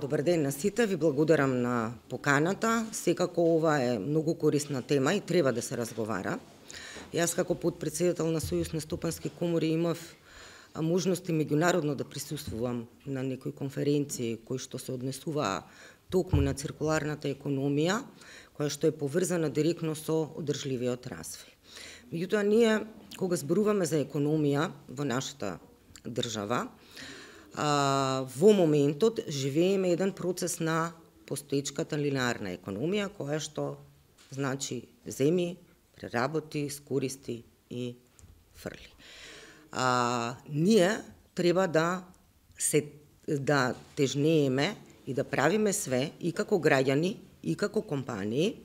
Добар ден на сите, ви благодарам на поканата. Секако ова е многу корисна тема и треба да се разговара. Јас како подпредседател на Сојуз на стопански комори имав можности меѓународно да присуствувам на некои конференции кои што се однесуваа токму на циркуларната економија, која што е поврзана директно со одржливиот развој. Меѓутоа, ние кога зборуваме за економија во нашата држава, во моментот живееме еден процес на постоечката линеарна економија, која што значи земи, преработи, скористи и фрли. Ние треба да тежнееме и да правиме све и како граѓани, и како компании,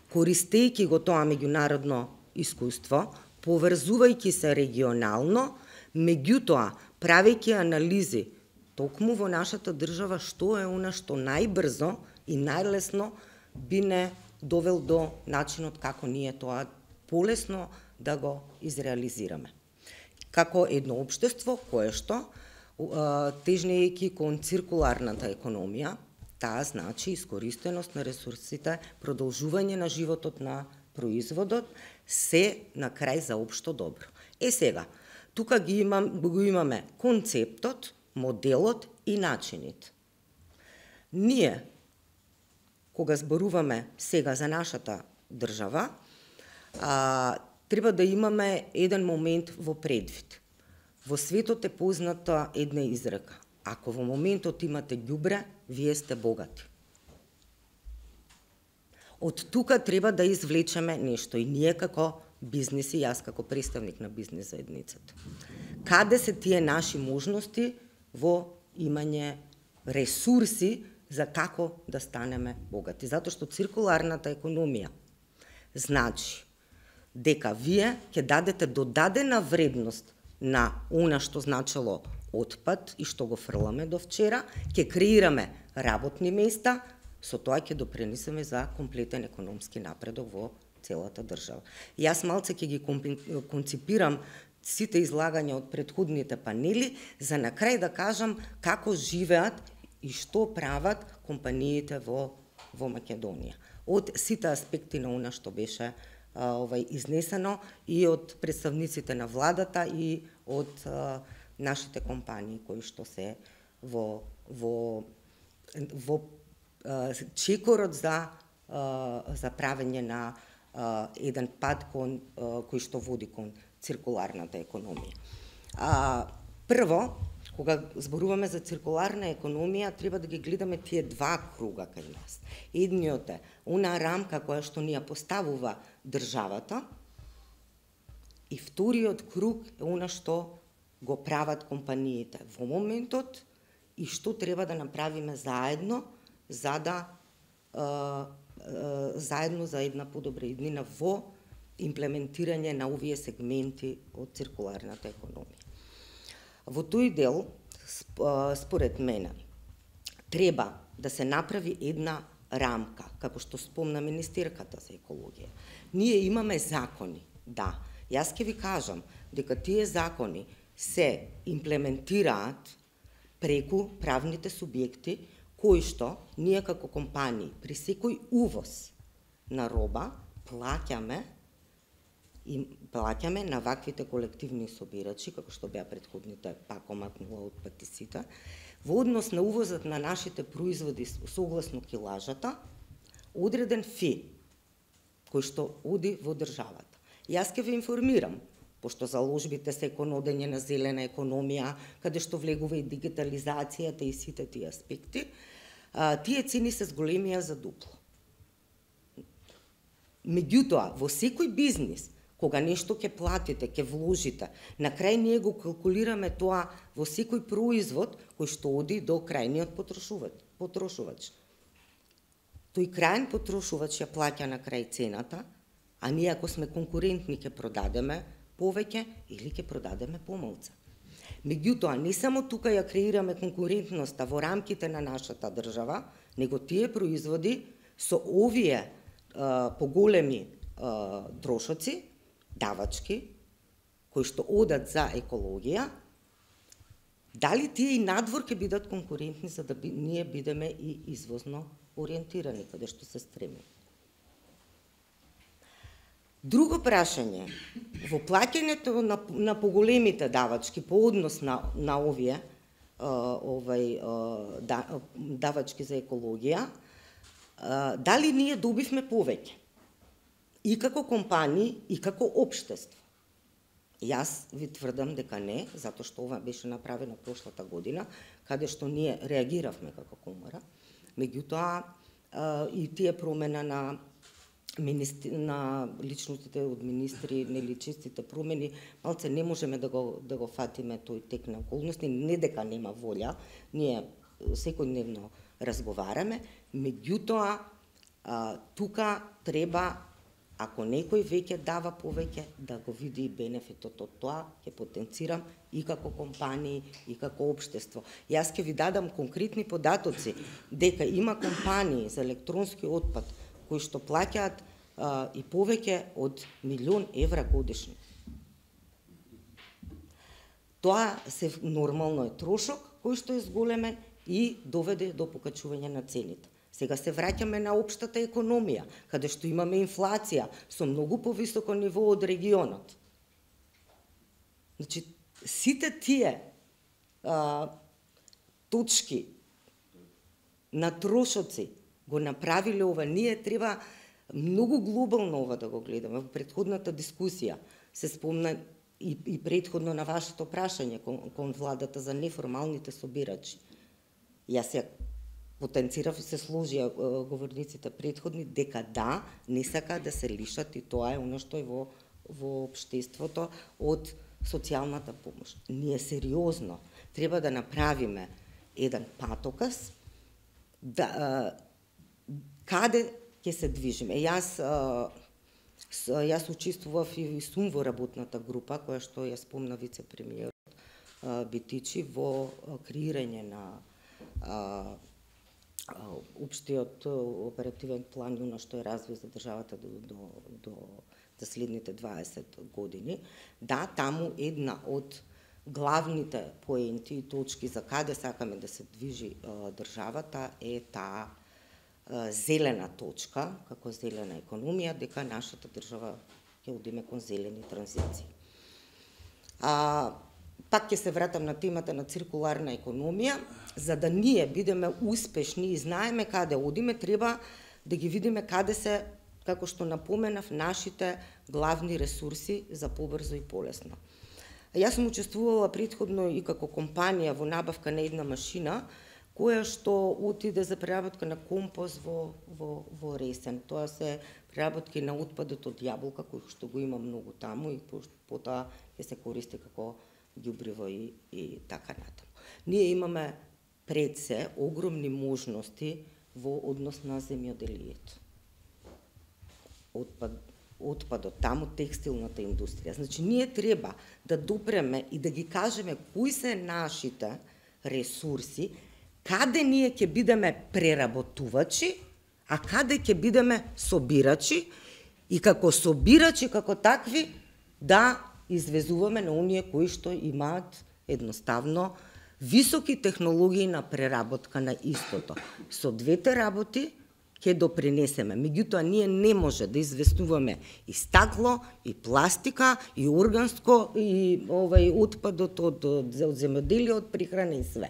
користејќи го тоа меѓународно искуство, поврзувајќи се регионално, меѓутоа правејќи анализи токму во нашата држава што е она што најбрзо и најлесно би не довел до начинот како ние тоа полесно да го изреализираме. Како едно општество кое што, тежнејќи кон циркуларната економија, таа значи искористеност на ресурсите, продолжување на животот на производот, се на крај за општо добро. Сега, тука го имаме концептот, моделот и начинит. Ние, кога зборуваме сега за нашата држава, треба да имаме еден момент во предвид. Во светот е позната една изрека. Ако во моментот имате ѓубре, вие сте богати. Од тука треба да извлечеме нешто и ние како бизнеси, јас како представник на бизнес заедницата. Каде се тие наши можности во имање ресурси за како да станеме богати? Затоа што циркуларната економија значи дека вие ќе дадете додадена вредност на она што значело отпад и што го фрламе до вчера, ќе креираме работни места, со тоа ќе допринесеме за комплетен економски напредок во целата држава. Јас малце ќе ги конципирам сите излагања од претходните панели, за на крај да кажам како живеат и што прават компаниите во Македонија. Од сите аспекти на она што беше изнесено и од представниците на владата и од нашите компании кои што се во чекорот за правење на еден пат кој што води кон циркуларната економија. Прво, кога зборуваме за циркуларна економија, треба да ги гледаме тие два круга кај нас. Едниот е она рамка која што ни ја поставува државата и вториот круг е она што го прават компаниите во моментот и што треба да направиме заедно за да заедно за една подобра иднина во имплементирање на овие сегменти од циркуларната економија. Во тој дел, според мене, треба да се направи една рамка, како што спомна министерката за екологија. Ние имаме закони, да. Јас ќе ви кажам дека тие закони се имплементираат преку правните субјекти кои што ние како компании при секој увоз на роба плаќаме на ваквите колективни собирачи, како што беа претходните, пак омакнува од патисите, во однос на увозот на нашите производи согласно килажата, одреден фи, кој што оди во државата. Јас ќе ве информирам, пошто заложбите се кон одење на зелена економија, каде што влегува и дигитализацијата и сите тие аспекти, тие цени се зголемија за дупло. Меѓутоа, во секој бизнис, кога нешто ќе платите, ќе вложите, на крај ние го калкулираме тоа во секој производ кој што оди до крајниот потрошувач. Тој крајен потрошувач ја плаќа на крај цената, а ние ако сме конкурентни ќе продадеме повеќе или ќе продадеме помалку. Меѓутоа, не само тука ја креираме конкурентноста во рамките на нашата држава, него тие производи со овие поголеми трошоци, давачки, кои што одат за екологија, Дали тие и надвор ќе бидат конкурентни за да ние бидеме и извозно ориентирани каде што се стремиме. Друго прашање, во плаќањето на поголемите давачки по однос на овие давачки за екологија, дали ние добивме повеќе и како компании и како општество? Јас ви тврдам дека не, затоа што ова беше направено прошлата година, каде што ние реагиравме како комора. Меѓутоа, и тие промена на личностите од министри, нели честите промени, малце не можеме да го фатиме тој тек на околности, не дека нема волја, ние секојдневно разговараме, меѓутоа тука треба, ако некој веќе дава повеќе, да го види и бенефитот од тоа, ќе потенцирам и како компании, и како општество. Јас ќе ви дадам конкретни податоци, дека има компании за електронски отпад кои што плаќаат и повеќе од 1.000.000 евра годишно. Тоа се нормално е трошок кој што е зголемен и доведе до покачување на цените. Сега се враќаме на општата економија, каде што имаме инфлација со многу повисоко ниво од регионот. Значи, сите тие точки на трошоци го направиле ова. Ние треба многу глобално ова да го гледаме. Во претходната дискусија се спомна и претходно на вашето прашање кон владата за неформалните собирачи. Јас ја потенцирав и се сложија говорниците претходни дека да, не сака да се лишат, и тоа е оно што е во општеството од социјалната помош. Ние сериозно треба да направиме еден патоказ каде ќе се движиме. Јас учествував и сум во работната група која што ја спомна вице-премиерот Битичи во креирање на општиот оперативен план, оно што е развој за државата до следните 20 години. Да, таму една од главните поенти и точки за каде сакаме да се движи државата е таа зелена точка, како зелена економија, дека нашата држава ќе одиме кон зелени транзиции. Пак ќе се вратам на темата на циркуларна економија. За да ние бидеме успешни и знаеме каде одиме, треба да ги видиме каде се, како што напоменав, нашите главни ресурси за побрзо и полесно. Јас сум учествувала претходно и како компанија во набавка на една машина, која што отиде за преработка на компост во Ресен. Тоа се преработки на отпадот од јаболка, кој што го има многу таму и потоа ќе се користи како ѓубриво и така натаму. Ние имаме пред се огромни можности во однос на земјоделието. Отпадот таму, текстилната индустрија. Значи, ние треба да допреме и да ги кажеме кои се нашите ресурси, каде ние ќе бидеме преработувачи, а каде ќе бидеме собирачи, и како собирачи, како такви, да извезуваме на оние кои што имаат едноставно високи технологии на преработка на истото. Со двете работи ќе допринесеме. Меѓутоа, ние не може да известуваме и стакло, и пластика, и органско, и отпадот од земјоделие, од прихрана и све.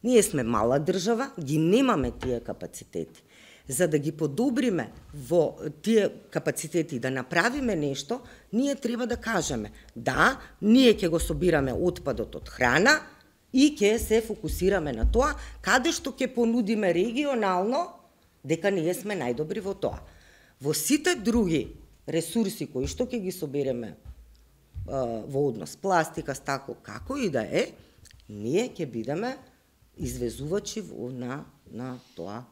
Ние сме мала држава, ги немаме тие капацитети. За да ги подобриме во тие капацитети, да направиме нешто, ние треба да кажеме, да, ние ќе го собираме отпадот од храна и ќе се фокусираме на тоа, каде што ќе понудиме регионално, дека ние сме најдобри во тоа. Во сите други ресурси кои што ќе ги собереме во однос пластика, стакло, како и да е, ние ќе бидеме извезувачи на тоа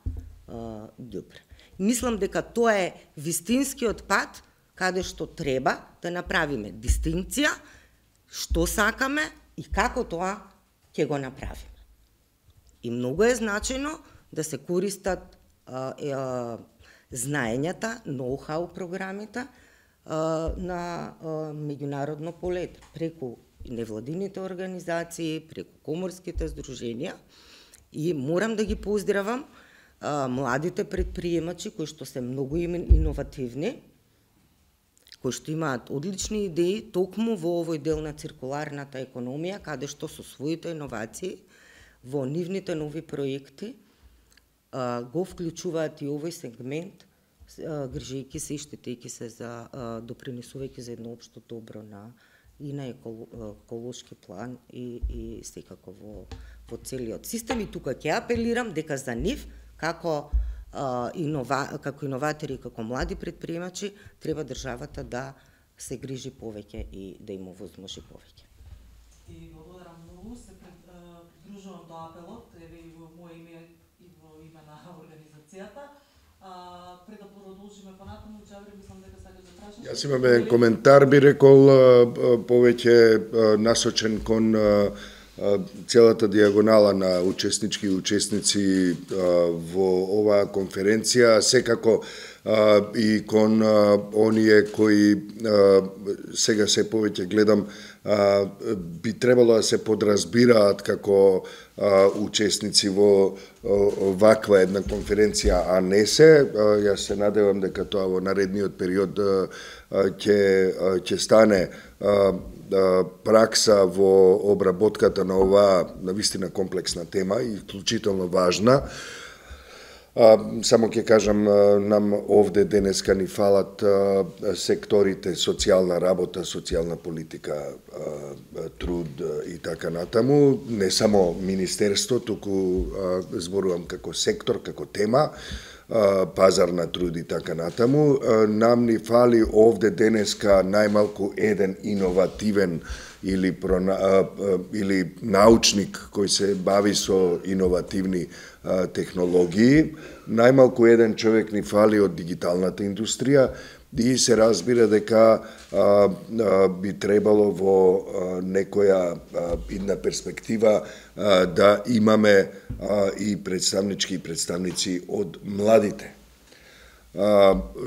ѓубре. Мислам дека тоа е вистинскиот пат каде што треба да направиме дистинкција, што сакаме и како тоа ќе го направиме. И многу е значајно да се користат знаењата, ноу-хау програмите на меѓународно поле, преку невладините организации, преку коморските здруженија и морам да ги поздравам младите предприемачи кои што се многу иновативни, кои што имаат одлични идеи токму во овој дел на циркуларната економија, каде што со своите иновации во нивните нови проекти го вклучуваат и овој сегмент, грижејќи се и штетејќи се за допринесувајќи за едно општо добро и на еколошки план и секако во целиот систем. И тука ќе апелирам дека за нив како иноватори и како млади предприемачи треба државата да се грижи повеќе и да им овозможи повеќе. И благодарам многу, се придружувам до апелот, еве и во моје име и во име на организацијата. Пред да продолжиме понатаму, Џабри, мислам дека сакаш да прашаш. Јас имам еден коментар, би рекол, повеќе насочен кон целата дијагонала на учеснички и учесници во оваа конференција, секако и кон оние кои сега се повеќе гледам би требало да се подразбираат како учесници во ваква една конференција, а не се. Јас се надевам дека тоа во наредниот период ќе стане пракса во обработката на оваа навистина комплексна тема и вклучително важна. Само ќе кажам, нам овде денеска ни фалат секторите социјална работа, социјална политика, труд и така натаму. Не само министерство, туку зборувам како сектор, како тема, пазар на труд и така натаму. Нам ни фали овде денеска најмалку еден иновативен или научник кој се бави со иновативни технологии. Најмалку еден човек ни фали од дигиталната индустрија и се разбира дека би требало во некоја идна перспектива да имаме и представнички и представници од младите.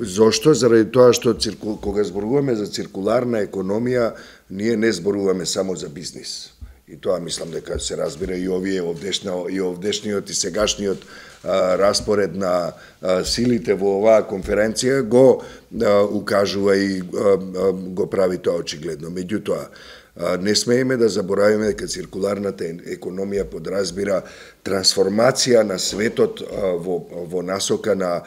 Зошто? Заради тоа што кога зборуваме за циркуларна економија, ние не зборуваме само за бизнис. И тоа мислам дека се разбира и овдешниот и сегашниот распоред на силите во оваа конференција го укажува и го прави тоа очигледно. Меѓутоа, не смееме да заборавиме дека циркуларната економија подразбира трансформација на светот во насока на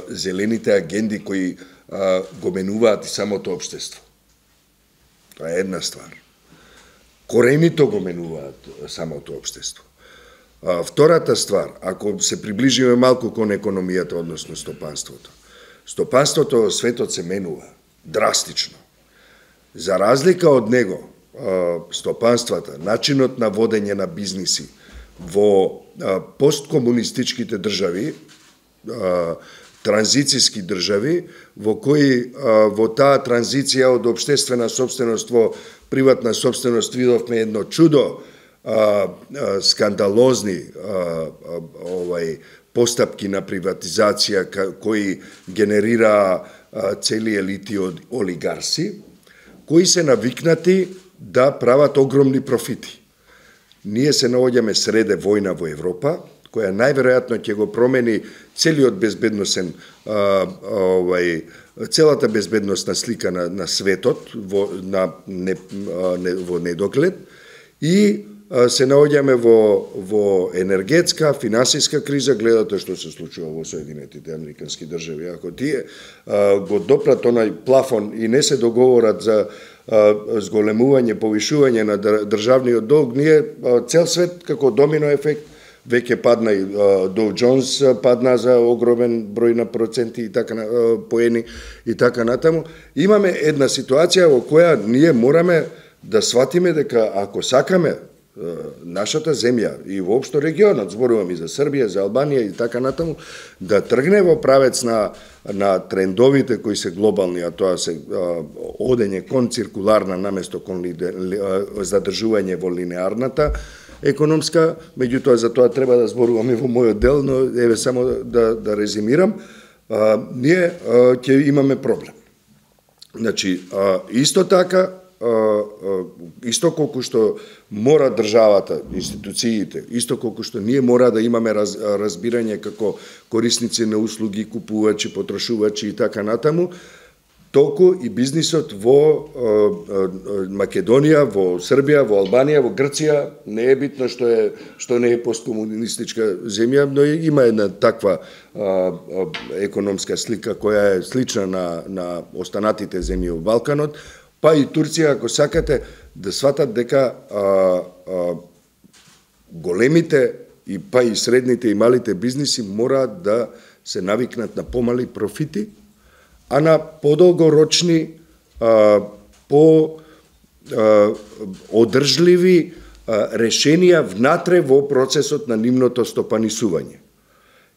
зелените агенди кои го менуваат и самото општество. Тоа е една ствар. Коренито го менуваат самото општество. Втората ствар, ако се приближиме малку кон економијата, односно стопанството. Стопанството во светот се менува драстично. За разлика од него, стопанствата, начинот на водење на бизниси во посткомунистичките држави, транзицијски држави, во кои во таа транзиција од општествена собственост во приватна собственост видовме едно чудо, скандалозни постапки на приватизација кои генерира цели елити од олигарси, кои се навикнати да прават огромни профити. Ние се наоѓаме среде војна во Европа, која најверојатно ќе го промени целиот безбедносен целата безбедносна слика на светот во недоглед и се наоѓаме во енергетска, финансиска криза, гледате што се случува во Соединетите Американски држави. Ако тие го допрат онај плафон и не се договорат за зголемување, повишување на државниот долг, ние цел свет како домино ефект веќе падна и Доу Джонс падна за огромен број на проценти и така поени и така натаму. Имаме една ситуација во која ние мораме да сватиме дека ако сакаме нашата земја и воопшто регионот, зборувам и за Србија, за Албанија и така натаму, да тргне во правец на трендовите кои се глобални, а тоа се одење кон циркуларна наместо кон задржување во линеарната економска, меѓутоа за тоа треба да зборуваме во мојот дел, но еве само да резимирам, ние ќе имаме проблем. Значи, исто така, исто колку што мора државата, институциите, исто колку што ние мора да имаме разбирање како корисници на услуги, купувачи, потрошувачи и така натаму, толку и бизнисот во Македонија, во Србија, во Албанија, во Грција, не е битно што не е посткомунистичка земја, но има една таква економска слика која е слична на останатите земји во Балканот, па и Турција, ако сакате, да сватат дека големите и па и средните и малите бизниси мораат да се навикнат на помали профити, а на подолгорочни, одржливи решенија внатре во процесот на нивното стопанисување.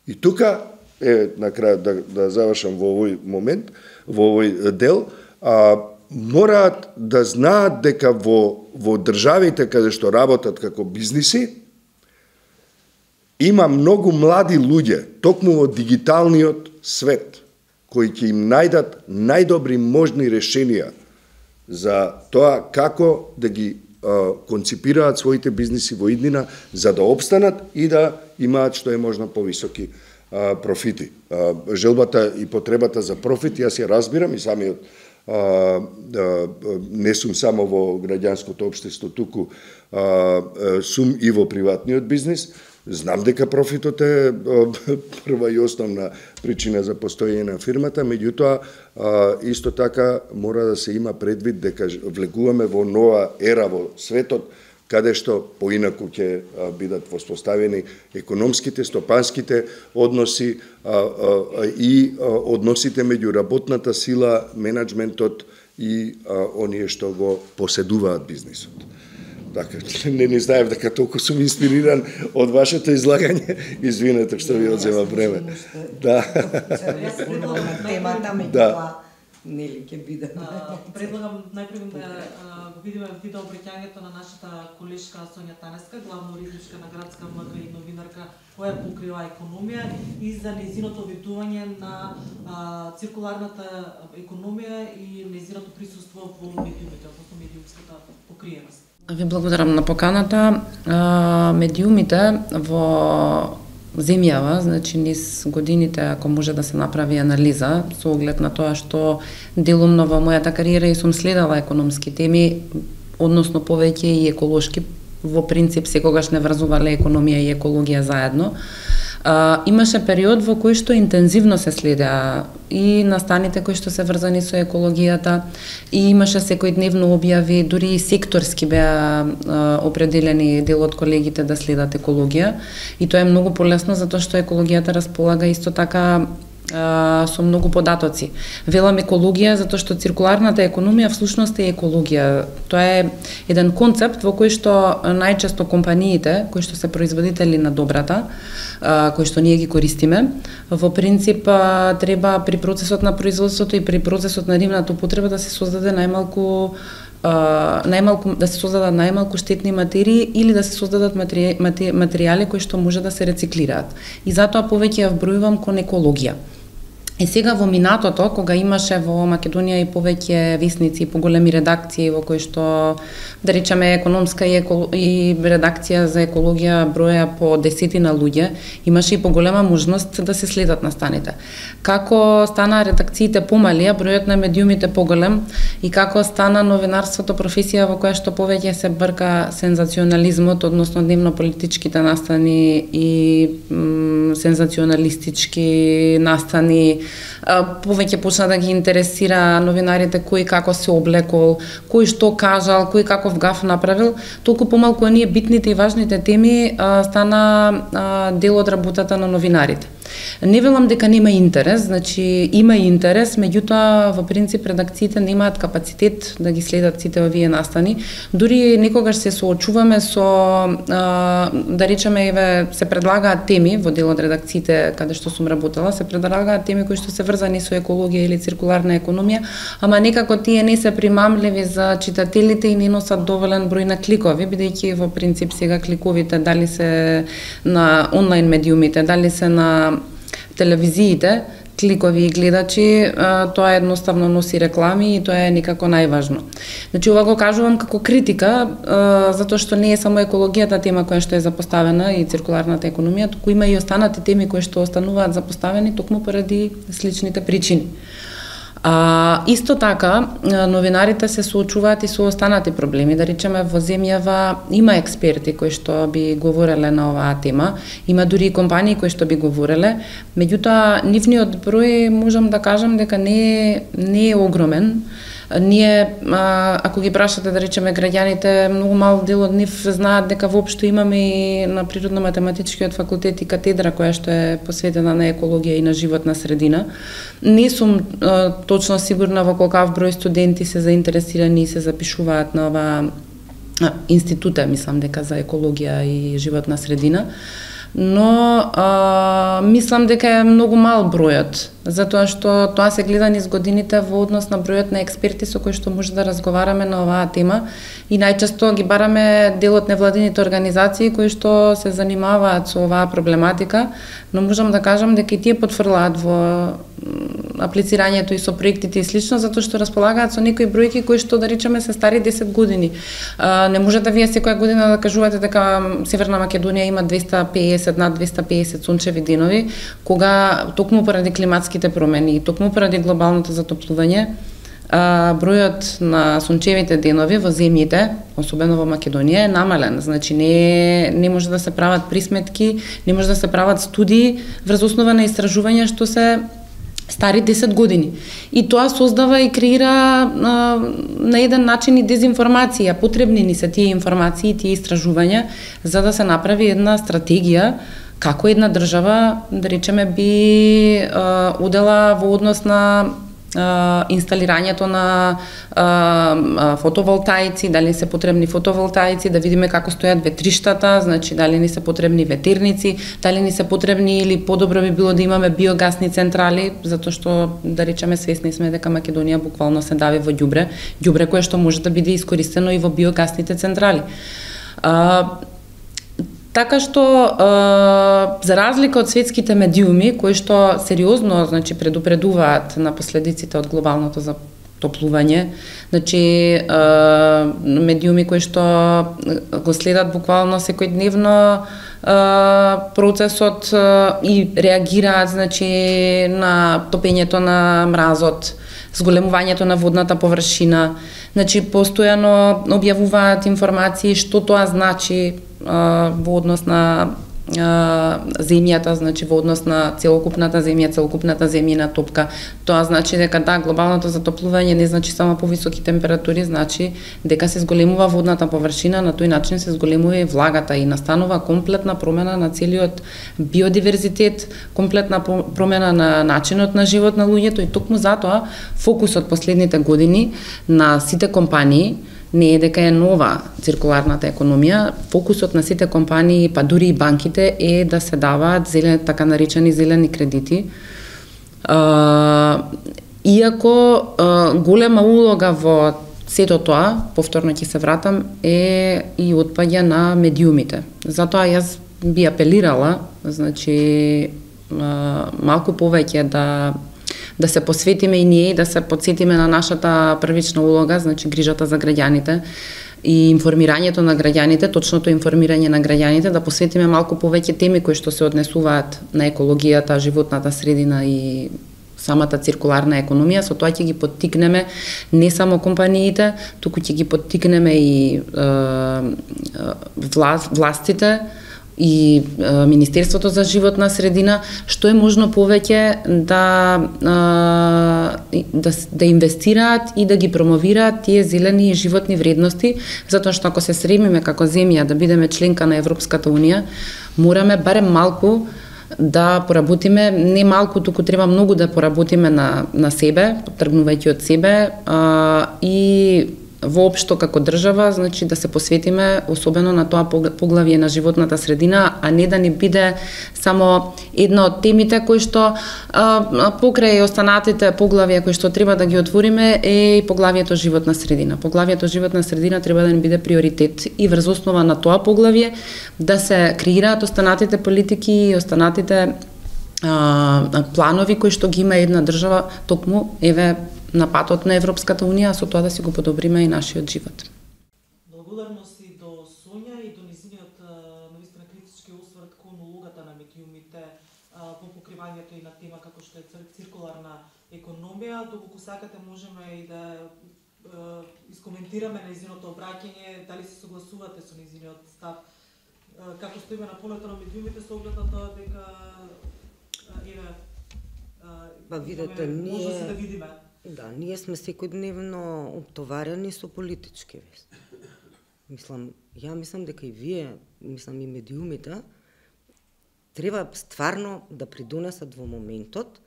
И тука, на крај да завршам во овој момент, во овој дел, мораат да знаат дека во државите каде што работат како бизниси, има многу млади луѓе, токму во дигиталниот свет, кои ќе им најдат најдобри можни решенија за тоа како да ги конципираат своите бизниси во иднина за да опстанат и да имаат што е можно повисоки профити. Желбата и потребата за профит, јас ја разбирам и самиот не сум само во граѓанското општество, туку сум и во приватниот бизнис. Знам дека профитот е прва и основна причина за постоење на фирмата, меѓутоа исто така мора да се има предвид дека влегуваме во нова ера во светот, каде што поинаку ќе бидат воспоставени економските, стопанските односи и односите меѓу работната сила, менеджментот и оние што го поседуваат бизнисот. Така, не знаев дека толку сум инспириран од вашето излагање. Извинете што ви одзема време. Да. Да. Нели ќе биде. Предлагам најпрво да го видиме видео обраќањето на нашата колешка Сонја Танеска, главно уредничка на Градска МГ и новинарка која покрива економија и за нејзиното видување на циркуларната економија и нејзиното присуство во медиумите, односно медиумската покриеност. Ви благодарам на поканата. Медиумите во земјава, значи низ годините, ако може да се направи анализа, со оглед на тоа што делумно во мојата кариера и сум следала економски теми, односно повеќе и еколошки, во принцип секогаш не врзувале економија и екологија заедно. Имаше период во кој што интензивно се следеа и настаните кои што се врзани со екологијата, и имаше секојдневно објави, дури и секторски беа определени дел од колегите да следат екологија, и тоа е многу полесно затоа што екологијата располага исто така со многу податоци. Велам екологија затоа што циркуларната економија всушност е екологија. Тоа е еден концепт во кој што најчесто компаниите кои што се производители на добрата, кои што ние ги користиме, во принцип треба при процесот на производството и при процесот на нивната употреба да се создаде најмалку штетни материи или да се создадат материјали кои што може да се рециклираат. И затоа повеќе ја вбројувам кон екологија. И сега во минатото, кога имаше во Македонија и повеќе весници и поголеми редакции во кои што, да речеме, економска и редакција за екологија броја по десетина луѓе, имаше и поголема можност да се следат настаните. Како стана редакциите помали, бројот на медиумите поголем, и како стана новинарството професија во која што повеќе се брка сензационализмот, односно дневно политичките настани и сензационалистички настани, повеќе почна да ги интересира новинарите кој како се облекол, кој што кажал, кој каков гаф направил, толку помалку оние битните и важните теми стана дел од работата на новинарите. Не велам дека нема интерес, значи има и интерес, меѓутоа во принцип редакциите немаат капацитет да ги следат сите овие настани. Дури некогаш се соочуваме со, да речеме, се предлагаат теми во дел од редакциите каде што сум работела, се предлагаат теми кои што се врзани со екологија или циркуларна економија, ама некако тие не се примамливи за читателите и не носат доволен број на кликови, бидејќи во принцип сега кликовите дали се на онлайн медиумите, дали се на телевизиите, кликови и гледачи, тоа едноставно носи реклами и тоа е никако најважно. Значи, ова го кажувам како критика, затоа што не е само екологијата тема која што е запоставена и циркуларната економија, туку има и останати теми кои што остануваат запоставени токму поради сличните причини. Исто така, новинарите се соочуваат и со останати проблеми. Да речеме, во земјава има експерти кои што би говореле на оваа тема, има дури и компании кои што би говореле, меѓутоа нивниот број можам да кажам дека не е огромен. Ние, ако ги прашате, да речеме, граѓаните, многу мал дел од нив знаат дека воопшто имаме и на Природно-математичкиот факултет и катедра која што е посветена на екологија и на животна средина. Не сум точно сигурна во колкав број студенти се заинтересирани и се запишуваат на оваа института, мислам дека за екологија и животна средина, но мислам дека е многу мал бројот, затоа што тоа се гледа низ годините во однос на бројот на експерти со кои што може да разговараме на оваа тема и најчесто ги бараме дел од невладините организации кои што се занимаваат со оваа проблематика, но можам да кажам дека и тие потврлаат во аплицирањето и со проектите и слично, затоа што располагаат со некои бројки кои што, да речеме, се стари 10 години. Не можете вие секоја година да кажувате дека Северна Македонија има 250 над 250 сончеви денови, кога токму поради климатските промени и токму поради глобалното затоплување, бројот на сончевите денови во земјите, особено во Македонија, е намален. Значи не може да се прават присметки, не може да се прават студии врз основа на истражувања што се стари 10 години. И тоа создава и креира на еден начин и дезинформација. Потребни ни се тие информации, тие истражувања, за да се направи една стратегија како една држава, да речеме, би одела во однос на инсталирањето на фотоволтаици, дали се потребни фотоволтаици, да видиме како стојат ветриштата, значи дали ни се потребни ветерници, дали ни се потребни или подобро би било да имаме биогасни централи, затоа што, да речеме, свесни сме дека Македонија буквално се дави во ѓубре кое што може да биде искористено и во биогасните централи. Така што, за разлика од светските медиуми, кои што сериозно, значи, предупредуваат на последиците од глобалното затоплување, значи, медиуми кои што го следат буквално секојдневно процесот и реагираат, значи, на топењето на мразот, зголемувањето на водната површина, значи, постојано објавуваат информации што тоа значи во однос на земјата, значи во однос на целокупната земја, целокупната земјина топка. Тоа значи дека да, глобалното затоплување не значи само повисоки температури, значи дека се зголемува водната површина, на тој начин се зголемува и влагата и настанува комплетна промена на целиот биодиверзитет, комплетна промена на начинот на живот на луѓето и токму затоа фокусот последните години на сите компании не е дека е нова циркуларната економија, фокусот на сите компании, па дури и банките, е да се даваат зелени, така наречени зелени кредити. Иако голема улога во сето тоа, повторно ќе се вратам, е и отпаѓа на медиумите. Затоа јас би апелирала, значи, малку повеќе да се посветиме и ние и да се подсетиме на нашата првична улога, значи грижата за граѓаните и информирањето на граѓаните, точното информирање на граѓаните, да посветиме малку повеќе теми кои што се однесуваат на екологијата, животната средина и самата циркуларна економија. Со тоа ќе ги поттикнеме не само компаниите, туку ќе ги поттикнеме и властите и Министерството за животна средина, што е можно повеќе да инвестираат и да ги промовираат тие зелени и животни вредности, затоа што ако се стремиме како земја да бидеме членка на Европската унија, мораме барем малку да поработиме, не малку, туку треба многу да поработиме на себе, тргнувајќи од себе и воопшто како држава, значи да се посветиме особено на тоа поглавје на животната средина, а не да ни биде само една од темите кои што покрај останатите поглавја кои што треба да ги отвориме е и поглавјето животна средина. Поглавјето животна средина треба да ни биде приоритет и врз основа на тоа поглавје да се креираат останатите политики и останатите планови кои што ги има една држава, токму еве на патот на Европската унија, со тоа да си го подобриме и нашиот живот. Благодарности до Сонја и до низиниот навистина критички осврт кон улогата на медиумите во покривањето и на тема како што е циркуларна економија. Доколку сакате можеме и да искоментираме нејзиното обраќање, дали се согласувате со нејзиниот став, како стоиме на полето на медиумите со оглед на тоа дека видете, може да видиме. Да, ние сме секојдневно оптоварени со политички вести. Мислам дека и вие, и медиумите, треба стварно да придонесат во моментот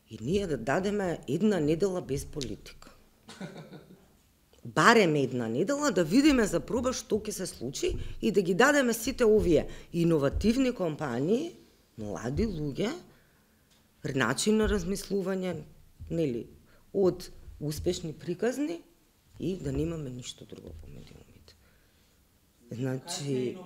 и ние да дадеме една недела без политика. Барем една недела да видиме за проба што ќе се случи и да ги дадеме сите овие иновативни компании, млади луѓе, начин на размислување, нели, од успешни приказни и да немаме ништо друго по медиумите. Значи,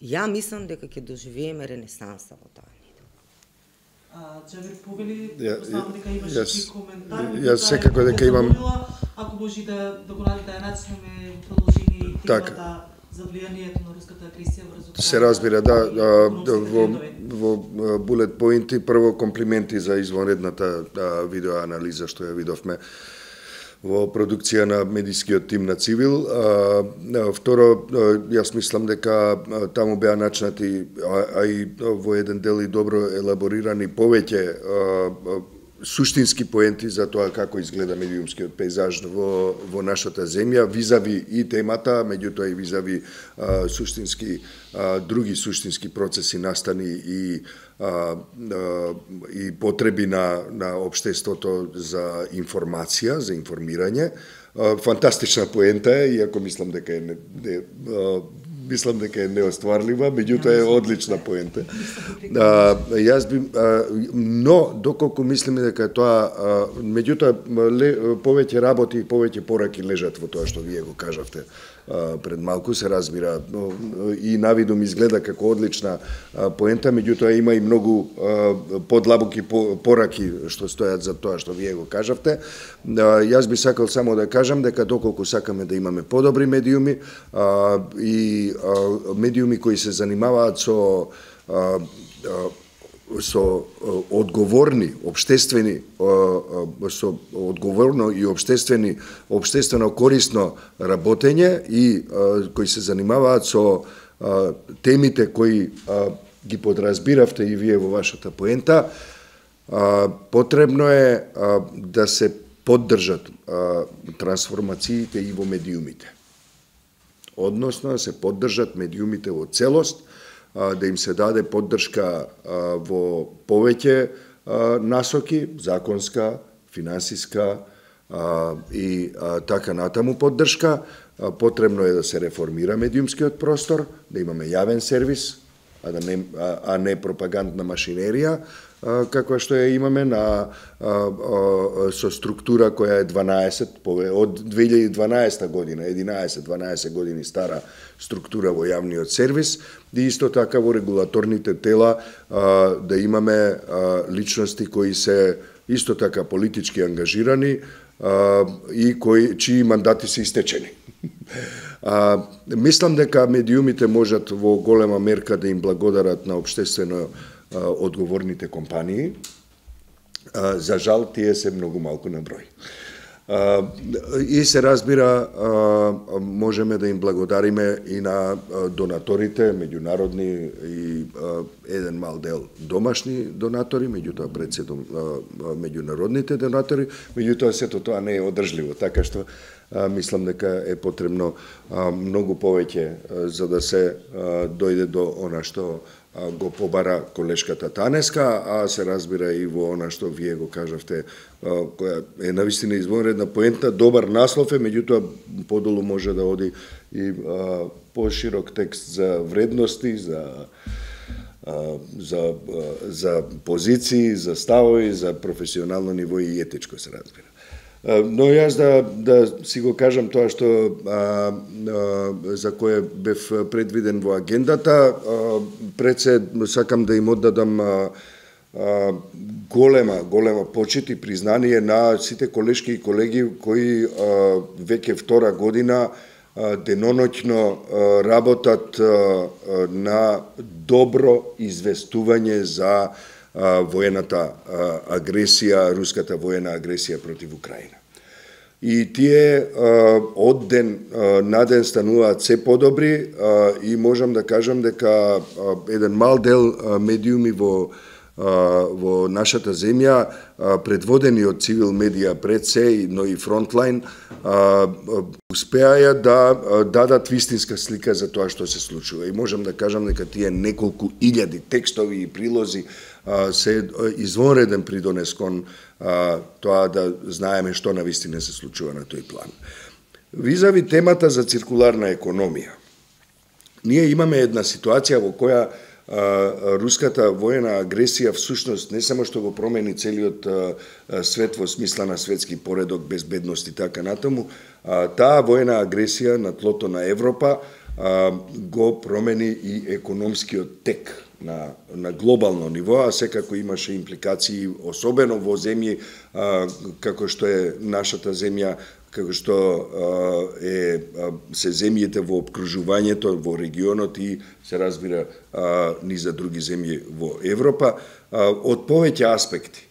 ја мислам дека ќе доживееме ренесанса во таа недела. Джавер Повели, знам дека имаше коментар. Јас секако дека имам... Ако може да го начнеме продолжение темата за влијанието на руската агресија врз Се разбира, во булет поинти, прво комплименти за извонредната видеоанализа што ја видовме во продукција на медискиот тим на Цивил. Второ, јас мислам дека таму беа начнати, а и во еден дел и добро елаборирани повеќе суштински поенти за тоа како изгледа медиумскиот пейзаж во нашата земја, визави и темата, меѓутоа и визави други суштински процеси, настани и потреби на општеството за информација, за информирање. Фантастична поента е, иако мислам дека е неостварлива, меѓутоа е одлична поента. Но доколку мислиме дека тоа, меѓутоа повеќе работи и повеќе пораки лежат во тоа што вие го кажавте пред малку, се разбира, и навидум изгледа како одлична поента, меѓутоа има и многу подлабоки пораки што стојат за тоа што вие го кажавте. Јас би сакал само да кажам дека доколку сакаме да имаме подобри медиуми и медиуми кои се занимаваат со одговорни, обштествени, со одговорно и обштествено корисно работење и кои се занимаваат со темите кои ги подразбиравте и вие во вашата поента, потребно е да се поддржат трансформациите и во медиумите. Односно, да се поддржат медиумите во целост, да им се даде поддршка во повеќе насоки, законска, финансиска и така натаму поддршка. Потребно е да се реформира медиумскиот простор, да имаме јавен сервис, а не пропагандна машинерија, каква што ја имаме со структура која е 12, од 2012 година, 11-12 години стара структура во јавниот сервис, и исто така во регулаторните тела да имаме личности кои се исто така политички ангажирани и чии мандати се истечени. Мислам дека медиумите можат во голема мерка да им благодарат на општествено одговорните компании. За жал, тие се многу малку на број. И се разбира, можеме да им благодариме и на донаторите, меѓународни и еден мал дел домашни донатори, меѓутоа председом меѓународните донатори, меѓутоа сето тоа не е одржливо, така што мислам дека е потребно многу повеќе за да се дојде до она што го побара колешката Танеска, а се разбира и во она што вие го кажавте, која е навистина извонредна поента, добар наслов е, меѓутоа подолу може да оди и поширок текст за вредности, за позиции, за ставови, за професионално ниво и етичко, се разбира. Но јас да си го кажам тоа што за кое бев предвиден во агендата, пред се сакам да им оддадам голема почит и признание на сите колешки и колеги кои веќе втора година деноноќно работат на добро известување за воената агресија, руската воена агресија против Украина. И тие од ден на ден стануваат се подобри и можам да кажам дека еден мал дел медиуми во нашата земја, предводени од цивил медија пред се, но и фронтлайн, успеаја да дадат вистинска слика за тоа што се случува. И можам да кажам дека тие неколку илјади текстови и прилози се извонреден придонес кон тоа да знаеме што навистина се случува на тој план. Визави темата за циркуларна економија. Ние имаме една ситуација во која руската воена агресија всушност не само што го промени целиот свет во смисла на светски поредок, безбедност и така натаму, таа воена агресија на тлото на Европа го промени и економскиот тек на глобално ниво, а секако имаше импликации, особено во земји како што е нашата земја, како што се земјите во обкружувањето, во регионот и се разбира низ за други земји во Европа, од повеќе аспекти.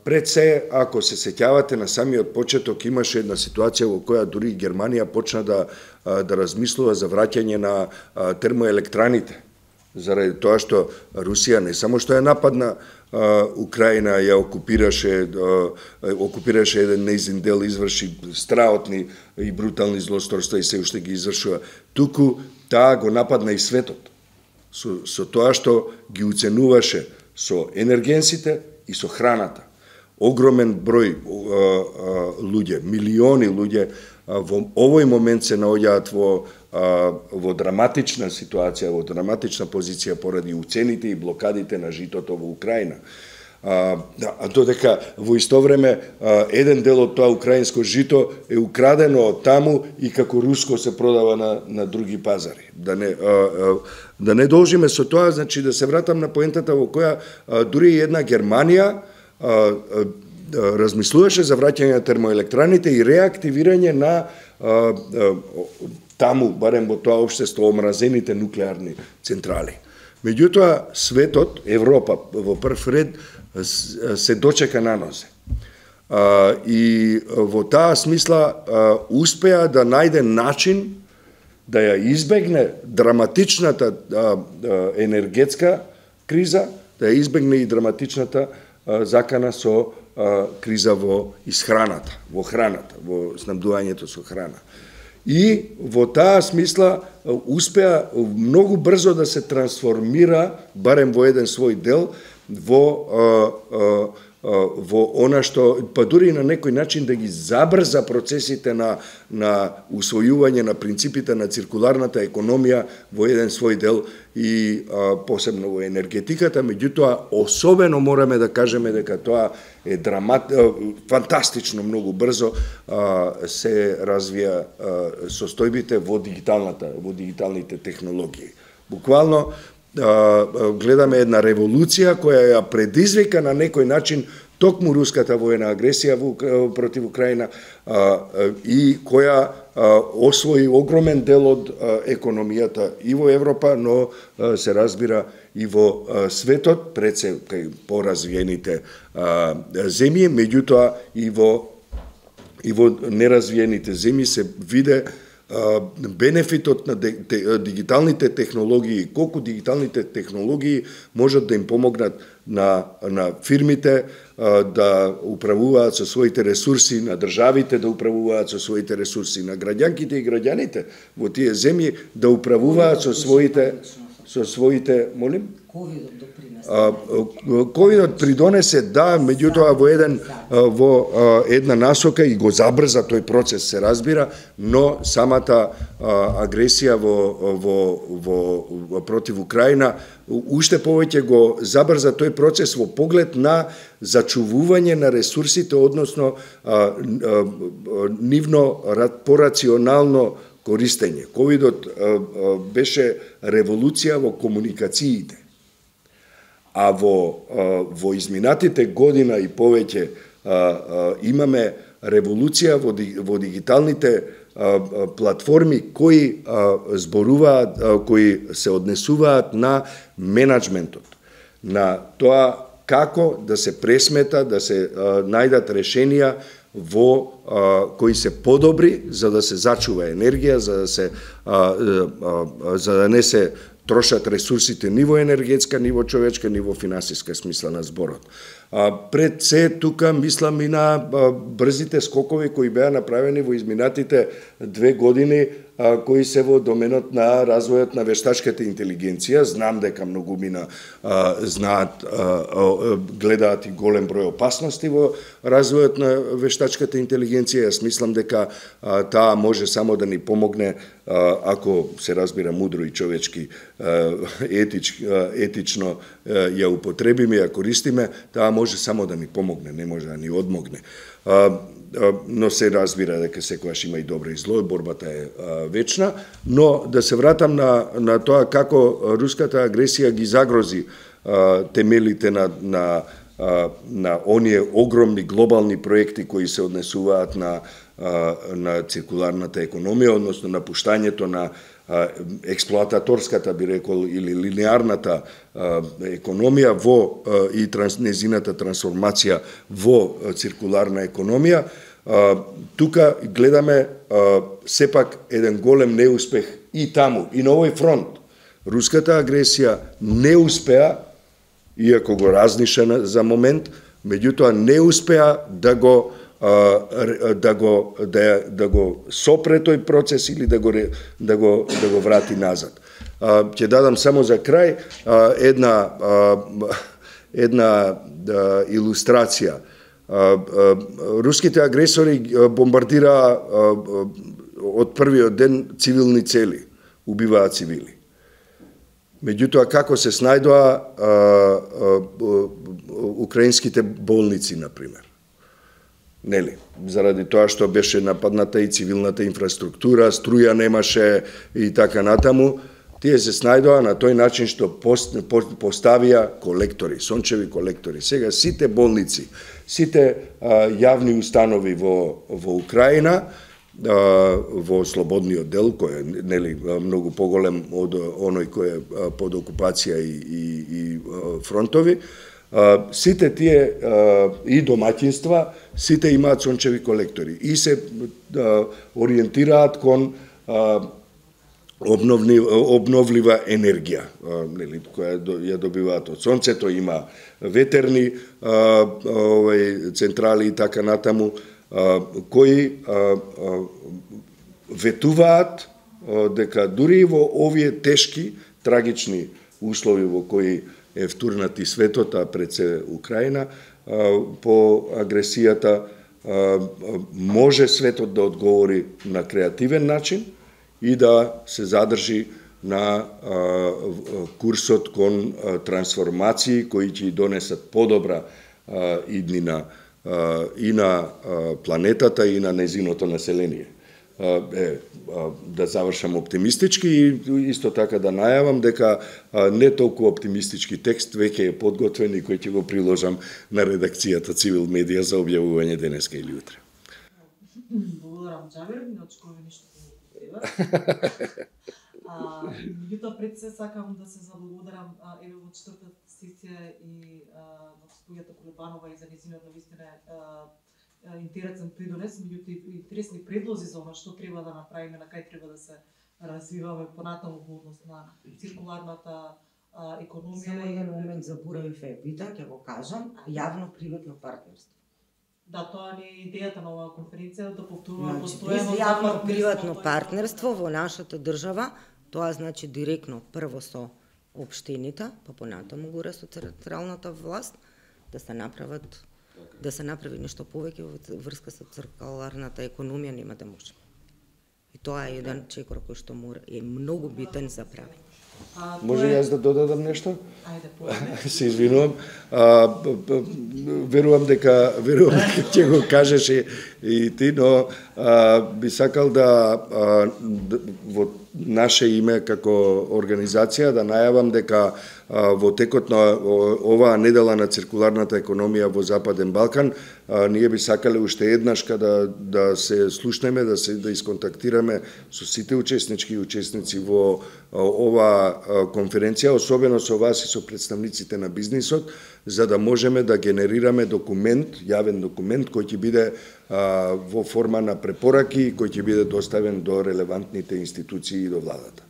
Пред се, ако се сеќавате на самиот почеток, имаше една ситуација во која дури Германија почна да размислува за враќање на термоелектраните, заради тоа што Русија не само што ја нападна Украина, ја окупираше еден нејзин дел, изврши страотни и брутални злосторства и се уште ги извршува, туку таа го нападна и светот со тоа што ги уценуваше со енергенсите и со храната. Огромен број луѓе, милиони луѓе во овој момент се наоѓаат во драматична ситуација, во драматична позиција поради уцените и блокадите на житото во Украина. Додека во исто време еден дел од тоа украинско жито е украдено од таму и како руско се продава на други пазари. Да не должиме со тоа, значи да се вратам на поентата во која дури една Германија размислуваше за враќање на термоелектраните и реактивирање на таму, барем во тоа општество, омразените нуклеарни централи. Меѓутоа, светот, Европа, во прв ред, се дочека на нозе. И во таа смисла успеа да најде начин да ја избегне драматичната енергетска криза, да ја избегне и драматичната закана со криза во исхраната, во храната, во снабдувањето со храна. И во таа смисла успеа многу брзо да се трансформира, барем во еден свој дел, во она што, па дури на некој начин да ги забрза процесите на усвојување на принципите на циркуларната економија во еден свој дел и посебно во енергетиката, меѓутоа особено мораме да кажеме дека тоа е фантастично многу брзо се развија состојбите во дигиталните технологии. Буквално гледаме една револуција која ја предизвика на некој начин токму руската воена агресија против Украина и која освои огромен дел од економијата и во Европа, но се разбира и во светот, пред се кај поразвиените земји, меѓутоа и во неразвиените земји се виде бенефитот на дигиталните технологии, колку дигиталните технологии можат да им помогнат на фирмите да управуваат со своите ресурси, на државите да управуваат со своите ресурси, на граѓанките и граѓаните во тие земји да управуваат со своите, молим? Ковидот допринесе. ковидот придонесе, да, меѓутоа во една насока и го забрза тој процес, се разбира, но самата агресија во против Украина уште повеќе го забрза тој процес во поглед на зачувување на ресурсите, односно нивно порационално користење. Ковидот беше револуција во комуникациите. А во изминатите година и повеќе имаме револуција во дигиталните платформи кои зборуваат, кои се однесуваат на менаџментот, на тоа како да се пресмета, да се најдат решенија кои се подобри за да се зачува енергија, за да не се трошат ресурсите ни во енергетска, ни во човечка, ни во финансиска смисла на зборот. Пред се тука мислам и на брзите скокови кои беа направени во изминатите 2 години, кои се во доменот на развојот на вештачката интелигенција. Знам дека многумина знаат, гледаат и голем број опасности во развојот на вештачката интелигенција. Јас мислам дека таа може само да ни помогне, ако се разбира мудро и човечки, етично ја употребиме, ја користиме, таа може само да ни помогне, не може да ни одмогне. Но се разбира дека секогаш има и добро и зло, борбата е вечна, но да се вратам на тоа како руската агресија ги загрози темелите на оние огромни глобални проекти кои се однесуваат на циркуларната економија, односно на пуштањето на експлоататорската, би рекол, или линеарната економија и незината трансформација во циркуларна економија. Тука гледаме сепак еден голем неуспех и таму, и на овој фронт. Руската агресија не успеа, иако го разниша за момент, меѓутоа не успеа да го сопре тој процес или да го врати назад. Ќе дадам само за крај една илустрација. Руските агресори бомбардираа од првиот ден цивилни цели, убиваат цивили. Меѓутоа, како се снајдоа украинските болници, например? Нели, заради тоа што беше нападната и цивилната инфраструктура, струја немаше и така натаму, тие се снајдоа на тој начин што поставија колектори, сончеви колектори. Сега сите болници, сите јавни установи во Украина, во слободниот дел, кој е нели многу поголем од оној кој е под окупација и фронтови, сите тие и домаќинства, сите имаат сончеви колектори и се ориентираат кон обновлива енергија, која ја добиваат од сонцето, има ветерни централи и така натаму, кои ветуваат дека дури и во овие тешки, трагични услови во кои е втурнат и светот, а пред се Украина, по агресијата може светот да одговори на креативен начин и да се задржи на курсот кон трансформации кои ќе донесат подобра иднина и на планетата и на незиното население. Да завршам оптимистички и исто така да најавам дека не толку оптимистички текст веќе е подготвен и кој ќе го приложам на редакцијата Цивил Медија за објавување денеска или утре. Благодарам, Џабир, не очекуваме ништо треба. Меѓутоа пред се сакам да се заблагодарам еве во четвртата сесија и на госпоѓата Колебанова и за нејзиниот навистина интересен придонес, меѓутоа и интересни предлози за она што треба да направиме, на кај треба да се развиваме понатаму во однос на циркуларната економија. Само еден момент заборавив епита, ќе го кажам, јавно-приватно партнерство. Да, тоа не е идејата на оваа конференција, да повторуваме постојано јавно-приватно партнерство во нашата држава, тоа значи директно прво со општините, па понатаму горе со централната власт, да се направи нешто повеќе во врска со циркуларната економија, нема да може. И тоа е еден чекор кој што е многу битен за правење. Може јас да додадам нешто? Ајде, се извинувам. Верувам дека ќе го кажеш и ти, но би сакал да во наше име како организација да најавам дека во текот на оваа недела на циркуларната економија во Западен Балкан, ние би сакале уште еднаш да се слушнеме, да исконтактираме со сите учесници во оваа конференција, особено со вас и со представниците на бизнисот, за да можеме да генерираме документ, јавен документ, кој ќе биде во форма на препораки и кој ќе биде доставен до релевантните институции и до владата.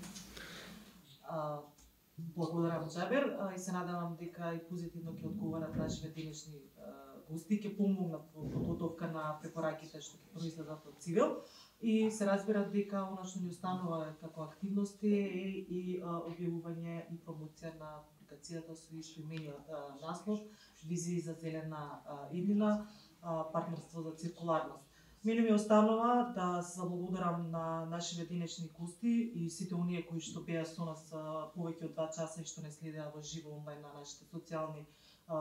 Благодарам, Джабер, и се надевам дека и позитивно ќе одговорат нашите денешни гости, ќе помогнат во подготовка на препораките што ќе произлезат од Цивил. И се разбира дека она што ни останува како активности е и објавување и промоција на публикацијата со именот наслов Визии за зелена иднина, партнерство за циркуларност. Мене ми останува да се заблагодарам на нашите денешни гости и сите оние кои што беа со нас повеќе од 2 часа и што не следеа во живо онлайн на нашите социјални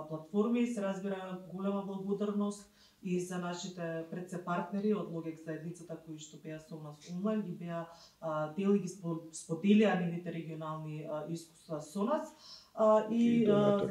платформи. Се разбира голема благодарност и за нашите предсепартнери од Логек заедницата кои што беа со нас онлайн и беа дел и ги споделија нивните регионални искуства со нас. И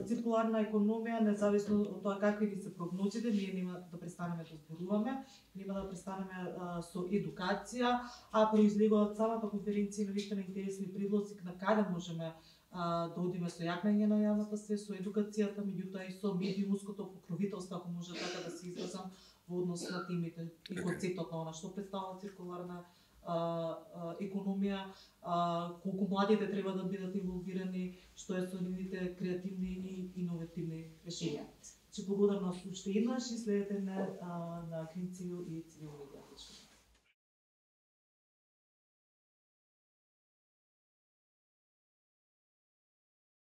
циркуларна економија, независно од тоа какви ни се прогнозите, ние нема да престанеме да зборуваме, нема да престанеме со едукација, а произлегуваат самата конференција на вистина интересни предлози на каде можеме да одиме со јакнење на јавната свест, со едукацијата, меѓутоа и со медиумското покровителство, ако може така да се изразам, во однос на темите и концептот на она што представува циркуларна економија, колку младите треба да бидат инволвирани, што е со нивните креативни и иновативни решенија. Благодарам уште еднаш и следете на Клин Цивил и Цивил медија.